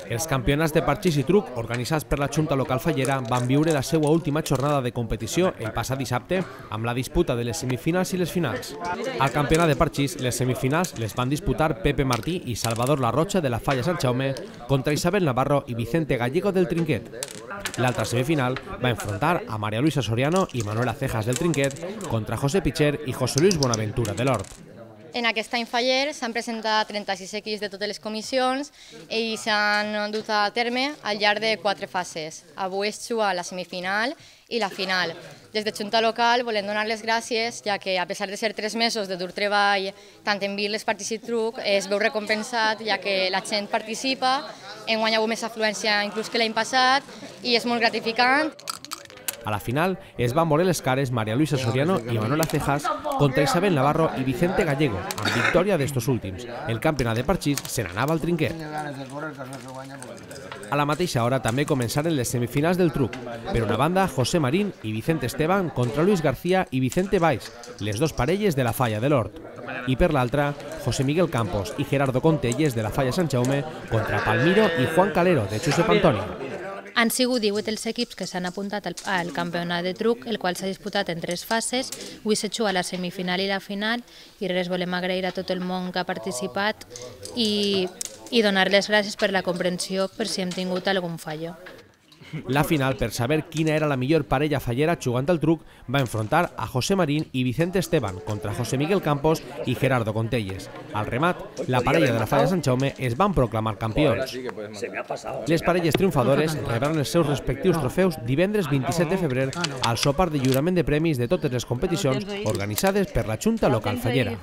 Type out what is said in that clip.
Els campionats de parxís i truc organitzats per la Junta Local Fallera van viure la seva última jornada de competició el passat dissabte amb la disputa de les semifinals i les finals. Al campionat de parxís, les semifinals les van disputar Pepe Martí i Salvador Larrocha de la Falla Sant Jaume contra Isabel Navarro i Vicente Gallego del Trinquet. L'altra semifinal va enfrontar a María Luisa Soriano i Manuela Cejas del Trinquet contra José Picher i José Luis Bonaventura de l'Hort. En aquest any faller s'han presentat 36 equips de totes les comissions i s'han dut a terme al llarg de 4 fases. Avui es juga la semifinal i la final. Des de Junta Local volem donar les gràcies, ja que a pesar de ser 3 mesos de dur treball, tant en birles, partits i truc, es veu recompensat, ja que la gent participa, enguany hi ha hagut més afluència inclús que l'any passat i és molt gratificant. A la final es van veure les cares María Luisa Soriano i Manuela Cejas contra Isabel Navarro i Vicente Gallego, amb victòria d'estos últims. El campionat de parxís se n'anava al Trinquet. A la mateixa hora també començaren les semifinals del truc. Per una banda, José Marín i Vicente Esteban contra Luis García i Vicente Valls, les dos parelles de la Falla de l'Hort. I per l'altra, José Miguel Campos i Gerardo Contelles de la Falla Sant Jaume contra Palmiro i Juan Calero de Josep Antoni. Han sigut 18 els equips que s'han apuntat al campionat de truc, el qual s'ha disputat en 3 fases. Avui s'ha jugat la semifinal i la final i res, volem agrair a tot el món que ha participat i donar les gràcies per la comprensió per si hem tingut algun fallo. La final, per saber quina era la millor parella fallera jugant al truc, va enfrontar a José Marín i Vicente Esteban contra José Miguel Campos i Gerardo Contelles. Al remat, la parella de la Falla Sant Jaume es van proclamar campions. Les parelles triomfadores rebran els seus respectius trofeus divendres 27 de febrer al sopar de lliurament de premis de totes les competicions organitzades per la Junta Local Fallera.